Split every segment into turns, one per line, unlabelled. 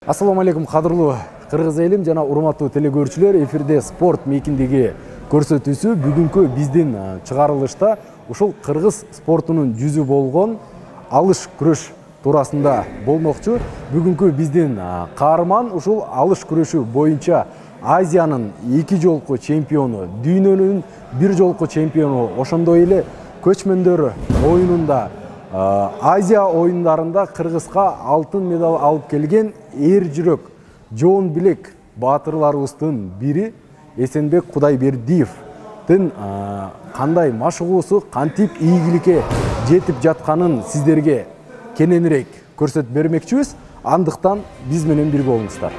Assalomu alaykum qadrli Qirg'iz elim jana urmаттуу телекөрүүчүлөр, эфирде спорт мейкиндеги көрсөтүүсү бүгүнкү биздин чыгарылышта ушул кыргыз спортунун жүзү болгон алыш күрөш туурасында болмокчу. Бүгүнкү биздин каарман ушул алыш күрөшү боюнча Азиянын 2 жолку чемпиону, дүйнөнүн 1 жолку чемпиону, ошондой эле көчмөндөр оюнунда Азия оюндарында Кыргызга алтын медаль алып келген эр жүрөк, жоон билек баатырларыбыздын бири Эсенбек Кудайбердиевдин кандай машыгуусу, кантип ийгиликке жетип жатканын сиздерге кененирээк көрсөтүп бермекчибиз. Андыктан биз менен бирге болуңуздар.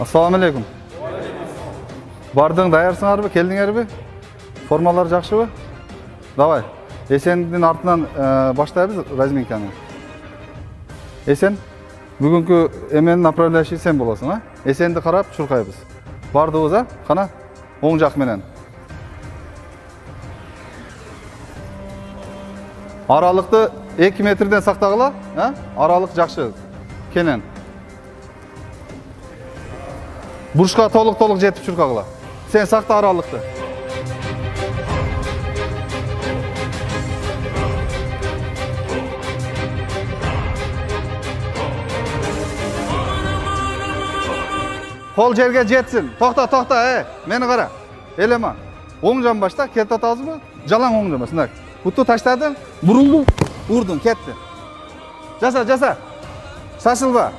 Assalamu alaikum. Бардың даярсыңарбы, келдиңерби? Формалар жакшыбы? Давай. Эсендин артынан баштайбыз разминканы. Эсен, бүгүнкү эменин направляющий сен болосуң, а? Эсенди карап чуркайбыз. Бардыбыз, а? Кана? Оң жак менен. Аралыкты 2 метрден сактагыла, а? Аралык жакшы. Кенен. Бурушка толук жетип чуркагыла. Сен сакта аралыкты. Кол жерге жетсин. Токта, мени кара. Элема. Оң жан башта, кетип атабызбы? Жалаң оң жан башта. Буту таштадың, бурулдуң, урдуң, кетти. Жаса. Шашылба.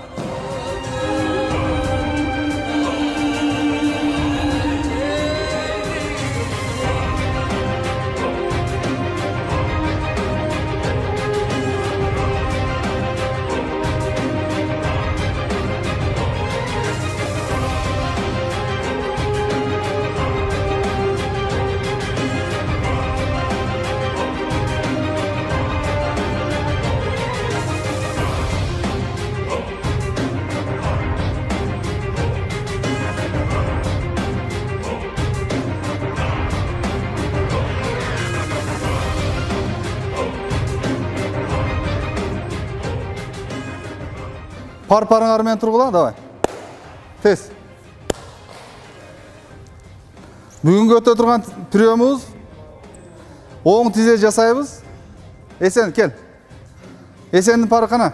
Парыңар менен тургула, давай. Тез. Бүгүнкү өтө турган трёмубуз оң тизе жасайбыз. Эсен, кел. Эсендин пары кана.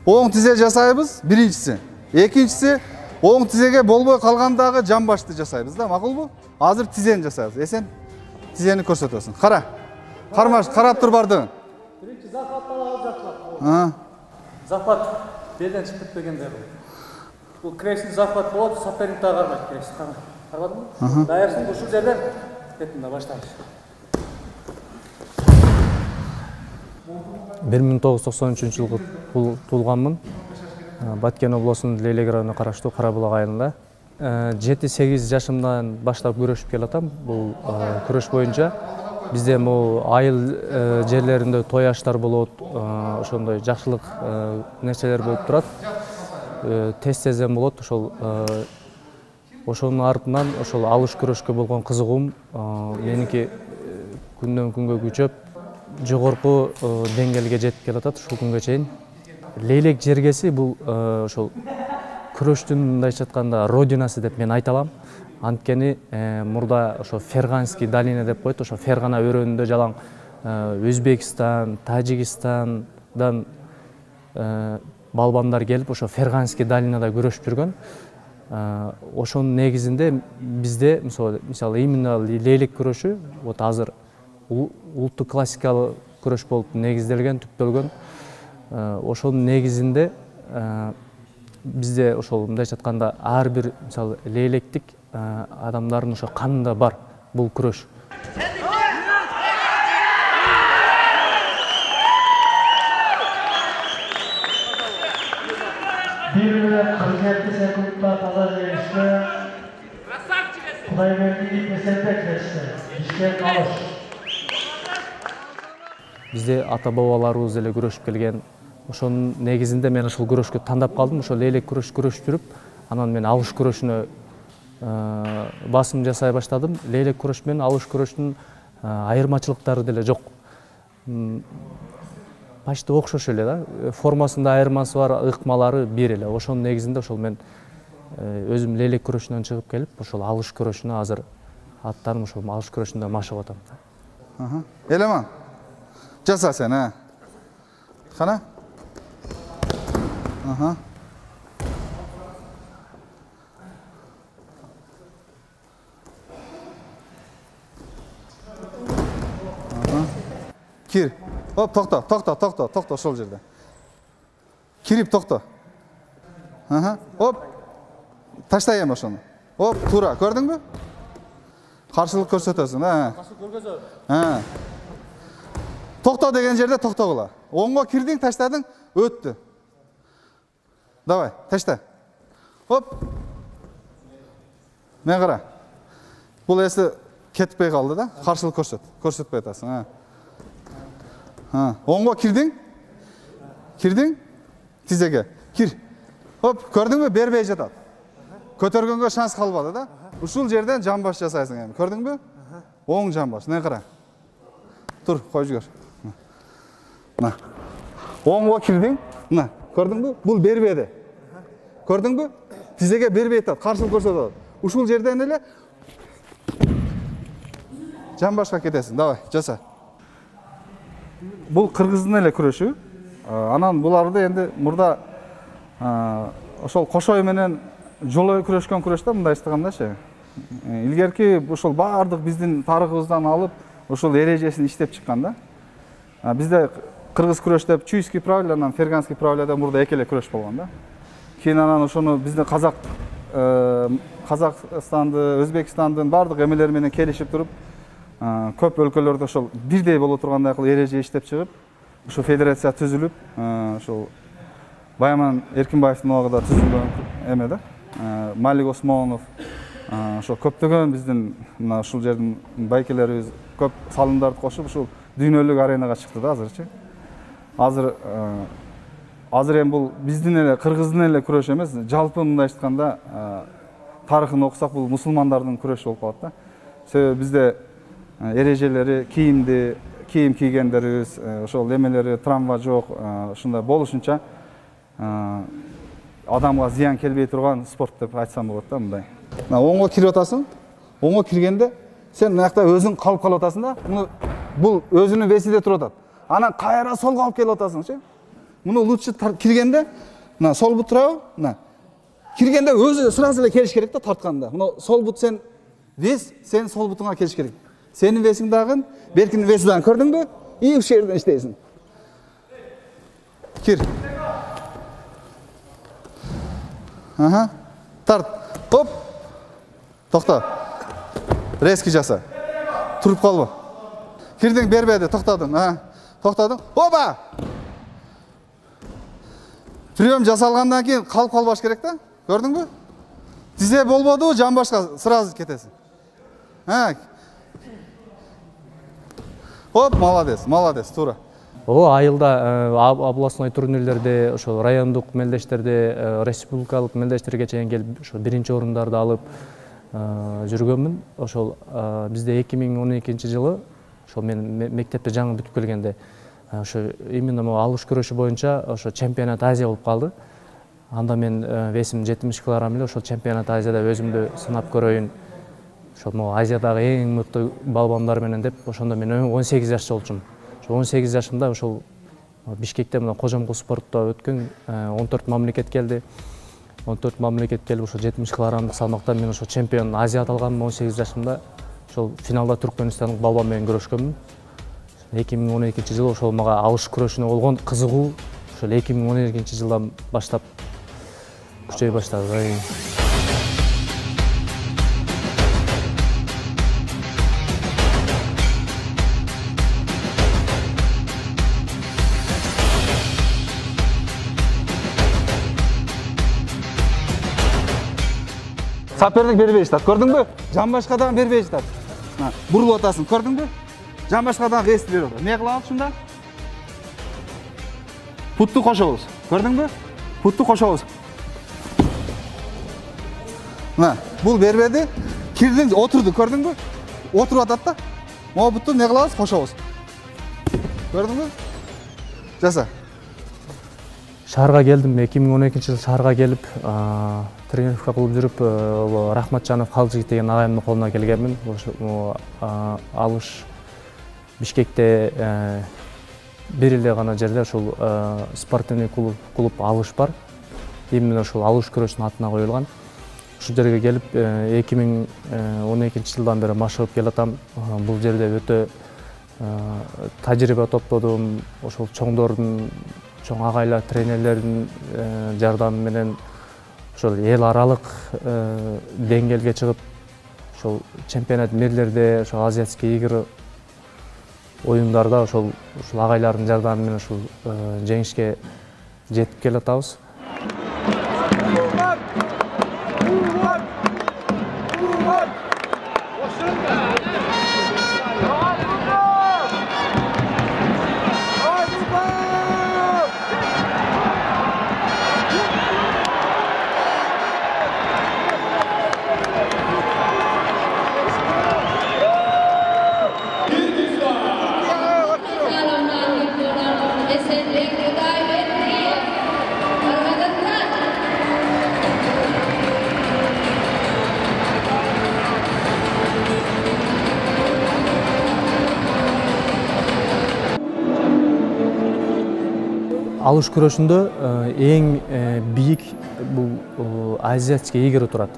Оң тизе жасайбыз, биринчиси. Экинчиси, оң тизеге болбой калгандагы жан башты жасайбыз да, макулбу? Азыр тизени жасайбыз. Эсен, тизени көрсөтөсүң. Кара. Кармаш, карап тур бардыгын.
Биринчи захваттан алып жакшылап. Захват белден чыгып кетпегенде бул кресин захват болот, соперник да кармайт крес. Карабадыңбы? Даярсың, ушул жерден кеттим да баштайбыз.
1993 жылы туулганмын. Баткен облусунун Лейлек районуна караштуу Кара Булак айылында. 7-8 жашымдан баштап күрөшүп келатам. Бул күрөш боюнча бизде бул айыл жерлеринде той аштар болот, ошондой жакшылык нерселер болуп турат. Тез-тезден болот, ошонун артынан ошол алыш күрөшкө болгон кызыгуум меники күндөн күнгө күчөп, жогорку деңгээлге жетип келатат ушул күнгө чейин. Лейлек жергеси бул ошол күрөштүн мындайча айтканда родинасы деп мен айта алам. Анткени мурда ошо Ферганский долина деп коет, ошо Фергана өрөөнүндө жалаң Өзбекстан, Тажикстандан балбандар келип, ошо Ферганский долинада күрөшүп жүргөн. Ошонун негизинде бизде мисалы именно лейлек күрөшү вот азыр улуттук классикалык күрөш болуп негизделген, түптөлгөн. Ошонун негизинде бизде ошол мындайча айтканда ар бир мисалы лейлектик адамдардын ошо канында бар бул күрөш.
Bir minut 47 sekundda таза жеңиште Кудайбердиев Эсенбек жетишти. Бишкек алыш.
бизде ата бабаларыбыз эле күрөшүп келген. Ошонун негизинде мен ушул күрөшкө тандап калдым. Ошол лейлек күрөшүп жүрүп, анан мен алыш күрөшүнө басым жасай баштадым. Лейлек күрөш менен алыш күрөшүнүн айырмачылыктары деле жок. Почти окшош эле да. Формасында айырмасы бар, ыкмалары бир эле. Ошонун негизинде ошол мен өзүм лейлек күрөшүнөн чыгып келип, ошол алыш күрөшүнө азыр аттанып ошол алыш күрөшүндө машыгып атам.
Элеман. Жаса сен, Кана? Кир. Оп, токто ошол жерде. Кирип токто. Оп. Таштай эми ошону. Оп, туура, көрдүңбү? Каршылык көрсөтөсүң,
Каршылык көргөзөт.
Токто деген жерде токтогула. Оңго кирдиң, таштадың, өттү. Давай, ташта. Оп. Мен кара. Бул эси кетпей калды да. Каршылык көрсөтпөй атасың, Оңго кирдиң. Тизеге. Кир. Оп, көрдүңбү? Бербей жатат. Көтөргөнгө шанс калбады да. Ушул жерден жамбаш жасайсың эми. Көрдүңбү? Оң жамбаш. Мен кара. Тур, кой жүгөр. Оңго кирдиң. Көрдүңбү? Бул бербеди. Көрдүңбү? Тизеге бербей атат, каршылык көрсөтөт. Ушул жерден эле жамбашка кетесиң. Давай, жаса. Бул кыргыздын эле күрөшү. Анан буларды энди мурда ошол кошой менен жолой күрөшкөн күрөштө мындай эстегендачы. Илгерки ошол баардык биздин тарыхыбыздан алып, ошол эрежесин иштеп чыккан да. Бизде кыргыз күрөштө чуйский правило, анан ферганский правилода мурда эки эле күрөш болгон да. Кийин анан ошону биздин Казакстанды, Өзбекстандын баардык эмелери менен келишип туруп, көп өлкөлөрдө ошол бирдей боло тургандай кылып эреже иштеп чыгып, ошо федерация түзүлүп, ошол Байман Эркинбаевдин убагында түзүлгөн эме да. Малик Осмонов, ошо көптөгөн биздин мына ушул жердин байкелерибиз көп салымдарды кошуп, ушул дүйнөлүк аренага чыкты да азырчы. Азыр эми бул биздин эле кыргыздын эле күрөшү эмес, жалпы мындай айтканда тарыхын окусак бул мусулмандардын күрөшү болуп калат да. Себеби бизде эрежелери, кийим кийгендерибиз, ошол эмелери, травма жок, ушундай болушунча адамга зыян келбей турган спорт деп айтсам болот да мындай. Оңго кирип атасың. Оңго киргенде сен мынакта өзүң калып калып атасың да. Бул өзүнүн весиде туруп атат. Анан кайра солго алып келип атасыңчы. Муну лучше киргенде, мына сол бут турабы? Мына. Киргенде өзү сразу эле келиш керек да тартканда. Мына сол бут сен вес, сен сол бутуңа келиш керек. Сенин весиң дагы, беркинин веси дагы, көрдүңбү? И ушул жерден иштейсиң. Кир. Тарт. Оп. Токто. Резкий жаса. Туруп калбы. Кирдиң, бербеди, токтодуң. Токтодуң. Опа! Прием жасалгандан кийин калып калбаш керек да. Көрдүңбү? Тизе болбоду, жамбашка сразу кетесиң. Оп, молодец, туура.
Айылда областной турнирлерде, ошо райондук мелдештерде, республикалык мелдештерге чейин келип, ошо биринчи орундарды алып жүргөнмүн. Ошол бизде 2012-жылы, ошол мен мектепте жаңы бүтүп келгенде, ошо именно алыш күрөшү боюнча ошо чемпионат Азия болуп калды. Анда мен весим 70 килограмм эле, ошол чемпионат Азияда өзүмдү сынап көрөйүн. Ошол Азиядагы эң мыкты балбандар менен деп, ошондо мен 18 жашта болчумун. Ошо 18 жашымда ошол Бишкекте мына Кожомкул спортто өткөн 14 мамлекет келди. 14 мамлекет келип ошо 70 килограммдык салмакта мен ошо чемпион Азия аталганмын 18 жашымда. Ошол финалда Түркмөнстандык балбан менен күрөшкөнмүн. 2012-жылы ошол мага алыш күрөшүнө болгон кызыгуу ошол 2012-жылдан баштап күчөй баштады.
Саперник бербей жатат, көрдүңбү? Жамбашка дагы бербей жатат. Бурулуп атасың, көрдүңбү? Жамбашка дагы вести берип атат. Эмне кылабыз ушунда? Путту кошобуз. Көрдүңбү? Путту кошобуз. Мына, бул бербеди. Кирдиң, отурду, көрдүңбү? Отуруп атат да. Могу бутту не кылабыз? Кошобуз. Көрдүңбү? Жаса.
Шаарга келдим, 2012-жылы шаарга келип, тренировка кылып жүрүп, Рахматжанов Калжыгит деген агайымдын колуна келгенмин. Алыш Бишкекте бир эле гана жерде ушул спортивный клуб Алыш бар. Именно ушул алыш күрөшүнүн атына коюлган. Ушул жерге келип 2012-жылдан бери машыгып келатам. Бул жерде өтө тажрыйба топлодум. Ошол чоңдордун, чоң агайлар, тренерлердин жардамы менен ошол эл аралык деңгээлге чыгып, ошол чемпионат мирлерде, ошол азиатский игр оюндарда ошол агайлардын жардамы менен ушул жеңишке жетип келатабыз. Алыш күрөшүндө эң бийик бул азиатский игры турат.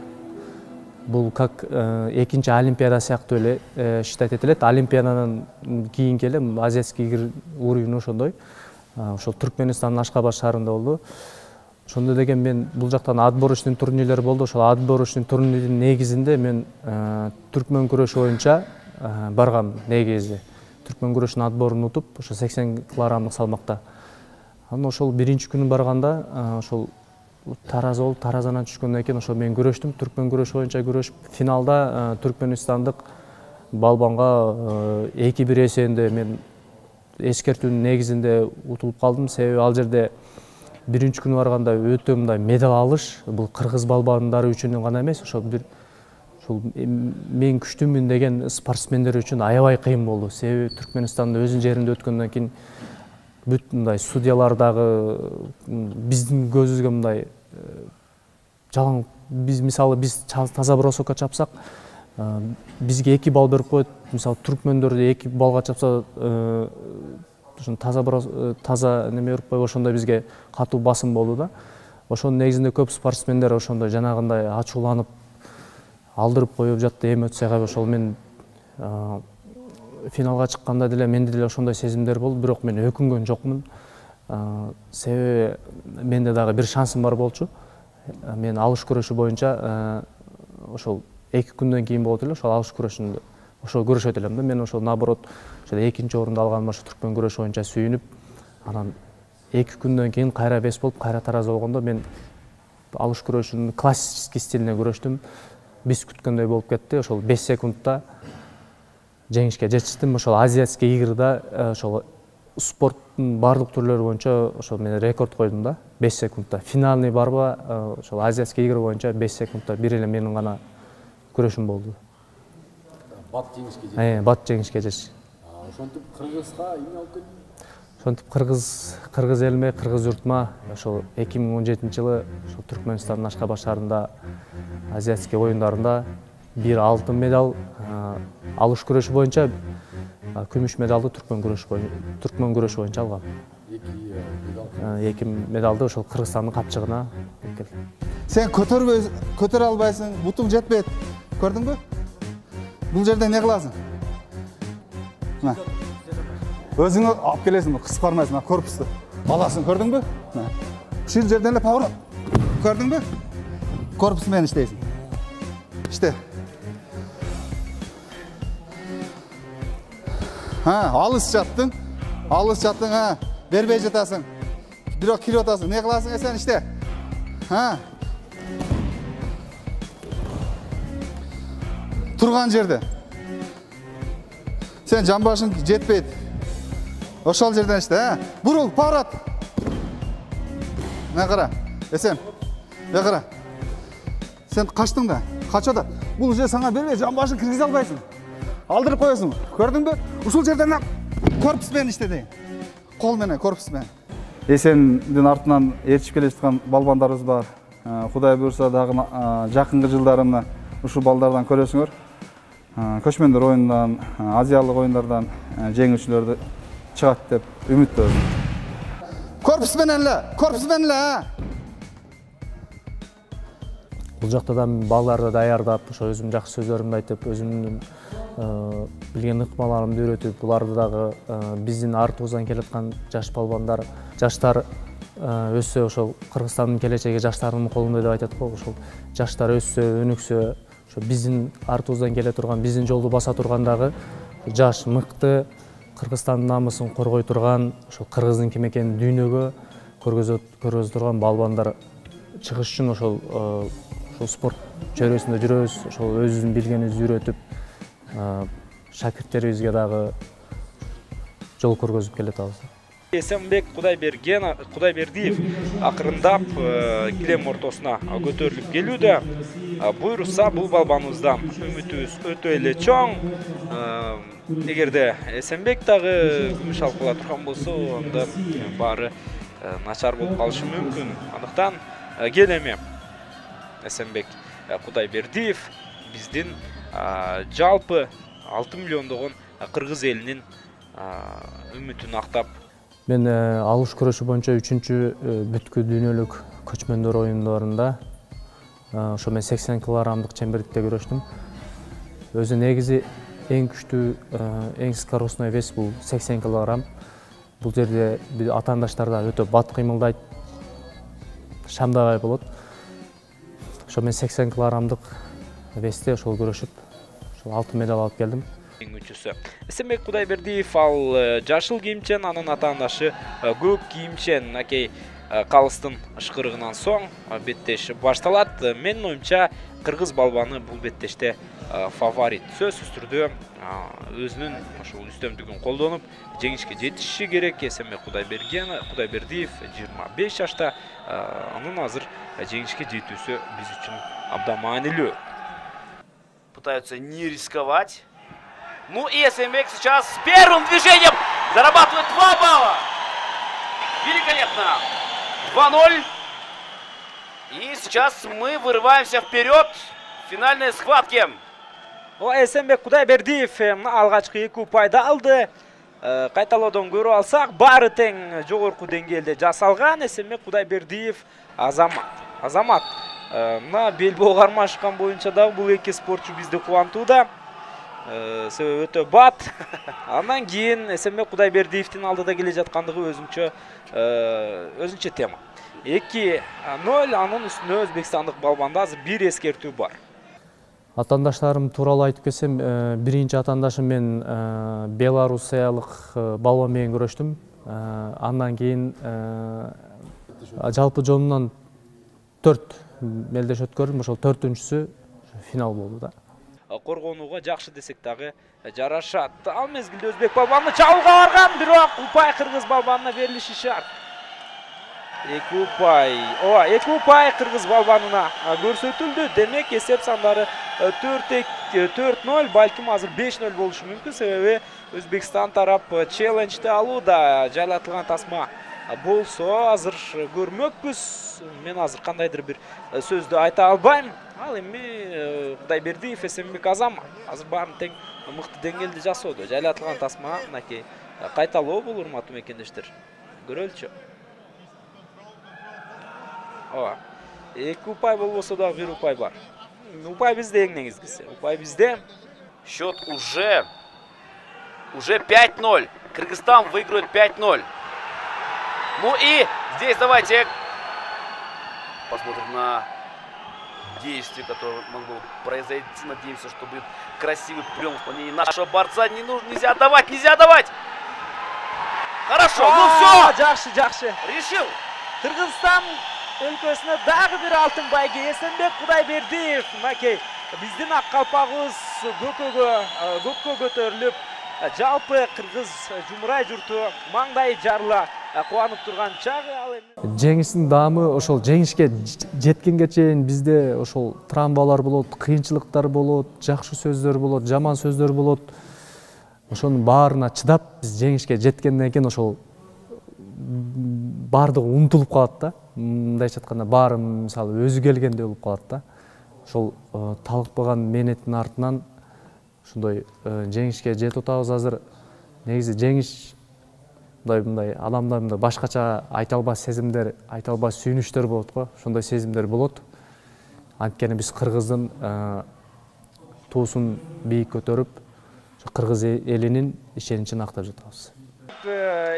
Бул как экинчи олимпиада сыяктуу эле считать этилет. Олимпиаданын кийинки эле азиатский игр уровень ошондой. Ошол Түркмөнстандын Ашкабад шаарында болду. Ошондо деген мен бул жактан отборочный турнирлер болду. Ошол отборочный турниrdин негизинде мен түркмөн күрөшү боюнча баргам негизи. Түркмөн күрөшүнүн отборун утуп, ошо 80 килограммдык салмакта. Анан ошол биринчи күнү барганда ошол тараза болуп, таразадан түшкөндөн кийин ошол мен күрөштүм. Түркмөн күрөшү боюнча күрөшүп, финалда түркмөнстандык балбанга 2-1 эсебинде мен эскертүүнүн негизинде утулуп калдым. Себеби ал жерде биринчи күнү барганда өтө мындай медаль алыш, бул кыргыз балбандары үчүн гана эмес, ошол мен күчтүүмүн деген спортсмендер үчүн аябай кыйын болду. Себеби Түркмөнстандын өзүнүн жеринде өткөндөн кийин бүт мындай судьялар дагы биздин көзүбүзгө мындай жалаң, мисалы биз таза бросокко чапсак, бизге 2 балл берип коет. Мисалы түркмөндөрдө 2 баллга чапса, ошон таза неме берип коюп, ошондой бизге катуу басым болду да. Ошонун негизинде көп спортсмендер ошондой жанагындай ачууланып алдырып коюп жатты, эмоцияга. Ошол мен финалга чыкканда деле менде деле ошондой сезимдер болду, бирок мен өкүнгөн жокмун. Себеби менде дагы бир шансым бар болчу. Мен алыш күрөшү боюнча ошол 2 күндөн кийин болот эле, ошол алыш күрөшүндө ошол көрүшөт элем да. Мен ошол наоборот ошол 2-чи орунду алганыма ошо түркмөн күрөшү боюнча сүйүнүп, анан 2 күндөн кийин кайра бес болуп, кайра тараза болгондо мен алыш күрөшүнүн классический стилине күрөштүм. Биз күткөндөй болуп кетти. Ошол 5 секундта жеңишке жетиштим. Ошол азиатский игрда ошол спорттун бардык түрлөрү боюнча ошол мен рекорд койдум да. 5 секундта. Финалный барба ошол азиатский игр боюнча 5 секундта бир эле менин гана күрөшүм болду.
Бат жеңишке жетти.
Бат жеңишке жетти.
Ошентип Кыргызга эмне алып келдиң?
Ошентип кыргыз элиме, кыргыз журтума ошол 2017-жылы ошол Түркмөнстандын Ашкабад шаарында азиатский оюндарында 1 алтын медаль, алыш күрөшү боюнча күмүш медалды түркмөн күрөшү боюнча алгам. 2 медалды ошол Кыргызстандын капчыгына алып келдим.
Сен көтөрө албайсың, бутуң жетпейт. Көрдүңбү? Бул жерде не кыласың? Мына. Өзүңө алып келесиң, кысып бармайсың, корпусту аласың, көрдүңбү? Ушул жерден эле поворот. Көрдүңбү? Корпус менен иштейсиң. İşte. Alыс жаттың, бербей жатасың. Бирок кирип атасың, не кыласың сен иште. Турган жерде. Сен жамбашың жетпейт. Ошол жерден иште, бурул, поворот. Мына кара. Эсен. Мына кара. Сен качтың да. Кача да. Бул же саңа бербей, жан башын киргизе албайсың. Алдырып коесуң. Көрдүңбү? Ушул жерден корпус менен иштеди. Кол менен корпус менен. Эсендин артынан ээрчип келе жаткан балбандарыбыз бар. Кудай буйрса дагы жакынкы жылдары мына ушул балдардан көрөсүңөр. Көчмөндөр оюнунан, азиялык оюндардан жеңүүчүлөрдү чыгат деп үмүттөнөм. Корпус менен эле.
Бул жакта да балдарды даярдап, ошо өзүм жакшы сөздөрүмдү айтып, өзүмдүн билген ыкмаларымды үйрөтүп, буларды дагы биздин артыбыздан келаткан жаш балбандар, жаштар өссө, ошол Кыргызстандын келечеги жаштардын колунда деп айтат го. Ошол жаштар өссө, өнүксө, ошо биздин артыбыздан келе турган, биздин жолду баса турган дагы жаш, мыкты, Кыргызстандын намысын коргой турган, ошол кыргыздын ким экенин дүйнөгө көргөзө турган балбандар чыгыш үчүн ошол спорт чөйрөсүндө жүрөбүз, ошол өзүбүздүн билгенибизди үйрөтүп, шакирттерибизге дагы жол көргөзүп келатабыз.
Эсенбек Кудайбердиев акырындап килем ортосуна көтөрүлүп келүүдө. Буйрса бул балбаныбыздан үмүтүбүз өтө эле чоң. Эгерде Эсенбек дагы күмүш алып кала турган болсо, анда баары начар болуп калышы мүмкүн. Андыктан келеме Эсенбек Кудайбердиев биздин жалпы 6 миллиондогон кыргыз элинин үмүтүн актап.
Мен алыш күрөшү боюнча 3-чү бүткүл дүйнөлүк көчмөндөр оюндарында ошо мен 80 килограммдык чембердикте күрөштүм. Өзү негизи эң күчтүү, эң скоростной вес бул 80 килограмм. Бул жерде атаандаштар да өтө бат кыймылдайт, шамдабай болот. Ошо мен 80 килограммдык весте ошол күрөшүп, ошол алтын медаль алып келдим.
Эсенбек Кудайбердиев ал жашыл кийимчен, анын атаандашы көк кийимчен. Акей калыстын ышкырыгынан соң беттеш башталат. Менин оюмча кыргыз балбаны бул беттеште фаворит. Сөзсүз түрдө өзүнүн ошол үстөмдүгүн колдонуп жеңишке жетиши керек. Эсенбек Кудайбердиев 25 жашта, анын азыр жеңишке жетүүсү биз үчүн абдан маанилүү.
Пытаются не рисковать. Ну и Эсенбек сейчас с первым движением зарабатывает 2 балла. Великолепно. 2-0. И сейчас мы вырываемся вперед в финальной схватке.
Эсенбек Кудайбердиев алгачкы 2 упайды алды. Кайталоодон көрүп алсак, баары тең жогорку деңгээлде жасалган. Эсенбек Кудайбердиев Азамат. Мына белбоо кармашкан боюнча дагы бул эки спортчу бизди кубантууда. Себеби өтө бат. Андан кийин Эсенбек Кудайбердиевдин алдыда келе жаткандыгы өзүнчө тема. 2-0, анын үстүнө өзбекстандык балбанда азыр бир эскертүү бар.
Атаандаштарым тууралуу айтып кетсем, биринчи атаандашым мен белорусиялык балбан менен күрөштүм. Андан кийин жалпы жолунан 4 мелдеш өткөрдүм, ошол 4-үнчүсү финал болду да.
Коргонууга жакшы десек дагы жарашат. Ал мезгилде өзбек балбаны чабуулга барган, бирок упай кыргыз балбанына берилиши шарт. 2 упай кыргыз балбанына көрсөтүлдү. Демек эсеп сандары 4-0, балким азыр 5-0 болушу мүмкүн. Себеби Өзбекстан тарап челленджди алууда. Жайлатылган тасма болсо азыр көрмөкпүз. Мен азыр кандайдыр бир сөздү айта албайм. Ал эми Кудайбердиев, Эсенбек Азамат азыр баарын тең мыкты деңгээлде жасоодо. Жайлатылган тасма мынакей кайталоо бул, урматтуу мекендештер. Көрөлүчү. 2 упай болбосо дагы 1 упай бар. Упай бизде эң негизгиси. Упай бизде.
Счет уже 5-0. Кыргызстан выигрывает 5-0. Ну и здесь давайте посмотрим на действие, которое могло произойти. Надеемся, что будет красивый прием в исполнении нашего борца. Нельзя давать. Хорошо, ну все.
Жакшы.
Решил.
Кыргызстан өлкөсүнө дагы бир алтын байге. Эсенбек Кудайбердиев, мынакей биздин ак калпагыбыз көккө көтөрүлүп, жалпы кыргыз жумурай журту маңдай жарыла кубанып турган чагы ал эми.
Жеңиштин даамы ошол жеңишке жеткенге чейин бизде ошол травмалар болот, кыйынчылыктар болот, жакшы сөздөр болот, жаман сөздөр болот. Ошонун баарына чыдап биз жеңишке жеткенден кийин ошол баардыгы унутулуп калат да. Мындайча айтканда баары мисалы өзү келгендей болуп калат да. Ошол талыкпаган мээнеттин артынан ушундай жеңишке жетип атабыз азыр. Негизи жеңиш мындай адамда мындай башкача айта албас сезимдер, айта албас сүйүнүчтөр болот го. Ошондой сезимдер болот. Анткени биз кыргыздын туусун бийик көтөрүп, кыргыз элинин ишеничин актап жатабыз.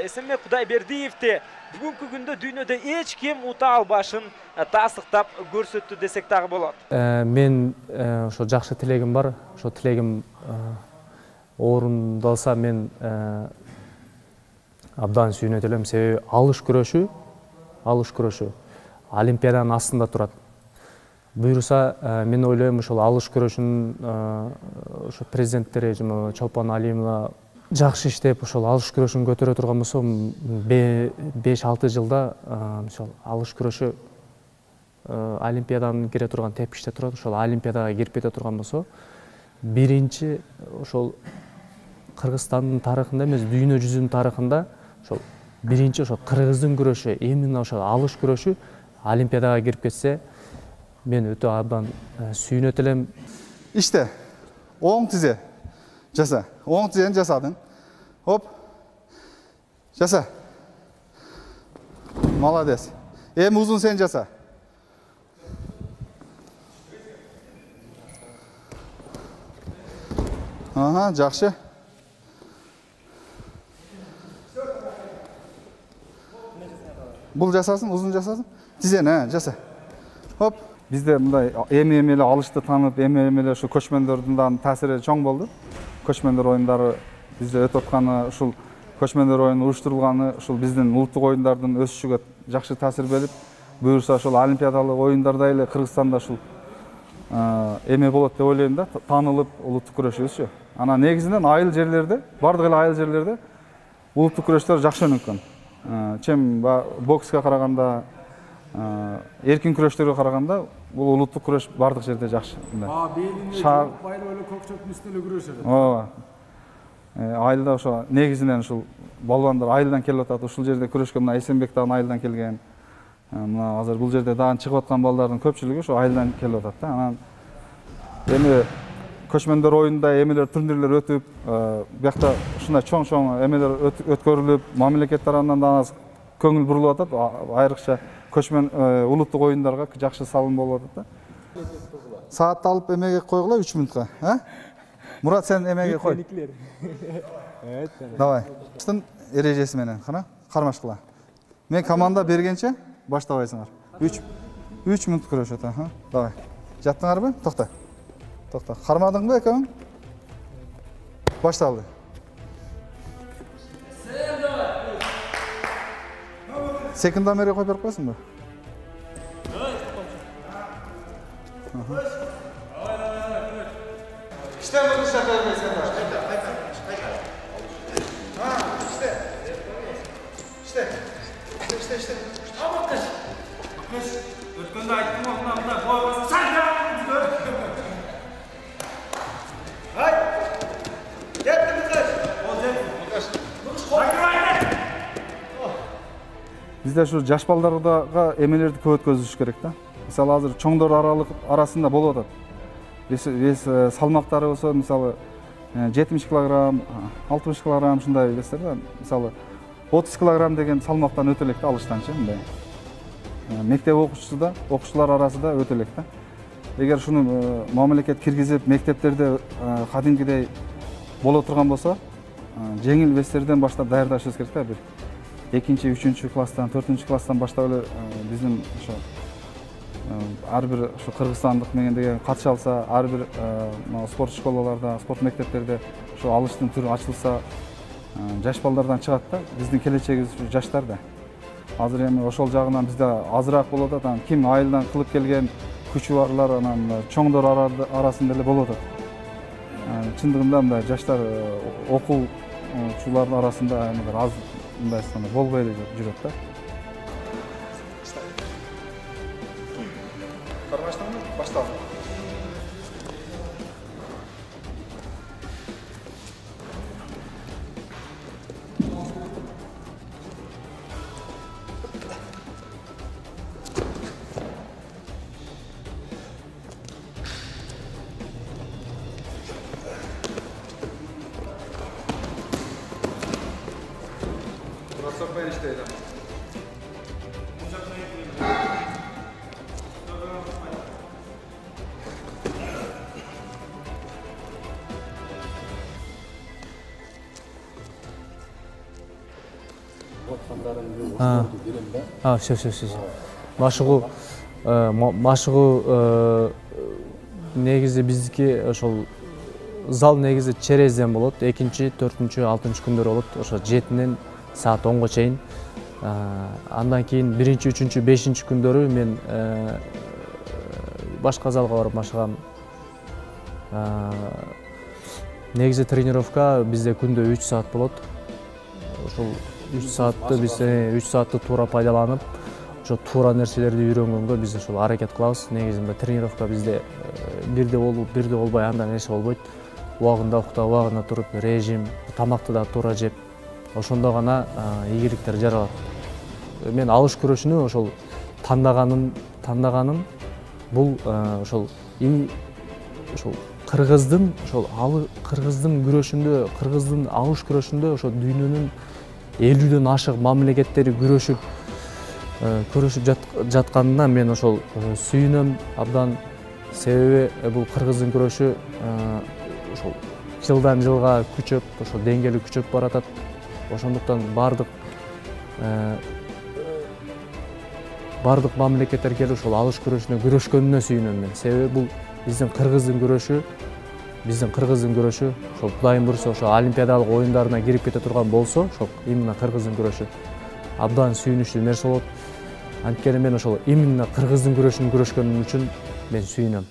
Эсенбек Кудайбердиевди бүгүнкү күндө дүйнөдө эч ким ута албашын тастыктап көрсөттү десек дагы болот.
Мен ошо жакшы тилегим бар. Ошо тилегим орундалса мен абдан сүйүнөт элем. Себеби алыш күрөшү олимпиаданын астында турат. Буюрса мен ойлойм ошол алыш күрөшүнүн ошо президенттери Чолпон Алимова жакшы иштеп ошол алыш күрөшүн көтөрө турган болсо 5-6 жылда мисалы алыш күрөшү олимпиаданын кире турган тепкичте турат. Ошол олимпиадага кирип кете турган болсо биринчи ошол Кыргызстандын тарыхында эмес, дүйнө жүзүнүн тарыхында ошол биринчи ошол кыргыздын күрөшү, именно ошол алыш күрөшү олимпиадага кирип кетсе, мен өтө абдан сүйүнөт элем.
İşte оң тизе жаса. Оң тизени жасадың. Оп. Жаса. Молодец. Эми узун сен жаса. Ага, жакшы. Бул жасасын, узун жасасын. Тизени, жаса. Хоп. Бизде мындай эми эле алышты таанып, эми эле ушу көчмөндөрдүн да таасири чоң болду. Көчмөндөр оюндары бизде өтүп атканы, ушул көчмөндөр оюну уюштурулганы ушул биздин улуттук оюндардын өсүшүгө жакшы таасир берип, буюрса ошол олимпиадалык оюндарда эле Кыргызстанда ушул эме болот деп ойлойм да, таанылып улуттук күрөшүбүзчү. Анан негизинен айыл жерлерде, бардык эле айыл жерлерде улуттук күрөштөр жакшы өнүккөн. Чем бокска караганда, эркин күрөштөргө караганда бул улуттук күрөш бардык жерде жакшы.
Шаар байлы эле көкчөктүн үстүнө күрөшөт.
Ооба. Айылда ошо негизинен ушул балбандар айылдан келип атат. Ушул жерде күрөшкө мына Эсенбек дагы айылдан келген. Мына азыр бул жерде дагы чыгып аткан балдардын көпчүлүгү ошо айылдан келип атат да. Анан эми көчмөндөр оюнда эмелер турнирлер өтүп, биякта ушундай чоң-чоң эмелер өткөрүлүп, мамлекет тарабынан да көңүл бурулуп атат. Айрыкча көчмөн улуттук оюндарга жакшы салым болуп атат да. Саатты алып эмеге койгула 3 мүнөткө, Мурат, сен эмеге кой. Давай. Штын эрежеси менен, кармаш кыла. Мен команда бергенче баштабайсыңар. 3 мүнөт күрөшөт, Давай. Жаттыңарбы? Токто. Токто. Кармадыңбы экөөң? Башталды. Секунда мере кой берип койсуңбу? İşte bunu şaka vermesin. İşte. Ama kız. Ötkönde aytdım ondan koymasın. Sen devam et gör. Hay. Yetti mi kız? Bizde şu жаш балдарга эмелерди көп өткөзүш керек да. Мисалы азыр чоңдор арасында болуп атат. Вес салмактары болсо, мисалы 70 килограмм, 60 килограмм ушундай вестер да. Мисалы 30 килограмм деген салмактан өтө элек да, алыштанчы мындай. Мектеп окуучулар арасында өтө элек да. Эгер шуну мамлекет киргизип, мектептерде кадимкидей боло турган болсо, жеңил вестерден баштап даярдашыбыз керек да. Бир 2-3 класстан, 4 класстан баштап эле биздин ошо ар бир ушу кыргызстандык деген катыша алса, ар бир спорт школаларда, спорт мектептерде ушу алыштын түрү ачылса, жаш балдардан чыгат да. Биздин келечегибиз жаштар да. Азыр эми ошол жагынан бизде азыраак болуп атат. Ким айылдан кылып келген күчү барлар анан чоңдор арасында эле болуп атат. Чындыгында мындай жаштар окуу ушулардын арасында бир аз мындай болбой эле жүрөт да. Башталды. Сокпен иштейт.
Все. Машыгуу негизи биздики ошол зал негизи черезден болот. 2-4, 6 күндөр болот. Ошо 7-ден саат 10-го чейин. Андан кийин 1, 3, 5 күндөрү мен башка залга барып машыгам. Негизи тренировка бизде күндө 3 саат болот. Ошол 3 саатты биз 3 саатты туура пайдаланып, ошо туура нерселерди үйрөнгөнгө биз ошол аракет кылабыз. Негизинде тренировка бизде бирде болуп, бирде болбой андай нерсе болбойт. Убагында уктап, убагында туруп, режим, тамакты да туура жеп, ошондо гана ийгиликтер жаралат. Мен алыш күрөшүнү ошол тандаганым бул ошол кыргыздын күрөшүндө, кыргыздын алыш күрөшүндө ошо дүйнөнүн 50ден ашык мамлекеттери күрөшүп жатканына мен ошол сүйүнөм абдан. Себеби бул кыргыздын күрөшү ошол жылдан жылга күчөп, ошол деңгээли күчөп баратат. Ошондуктан бардык мамлекеттер келип ошол алыш күрөшүнө күрөшкөнүнө сүйүнөм мен. Себеби бул биздин кыргыздын күрөшү ошол Кудайым буйрса ошо олимпиадалык оюндарына кирип кете турган болсо, ошол именно кыргыздын күрөшү абдан сүйүнүчтүү нерсе болот. Анткени мен ошол именно кыргыздын күрөшүн күрөшкөнүм үчүн мен сүйүнөм.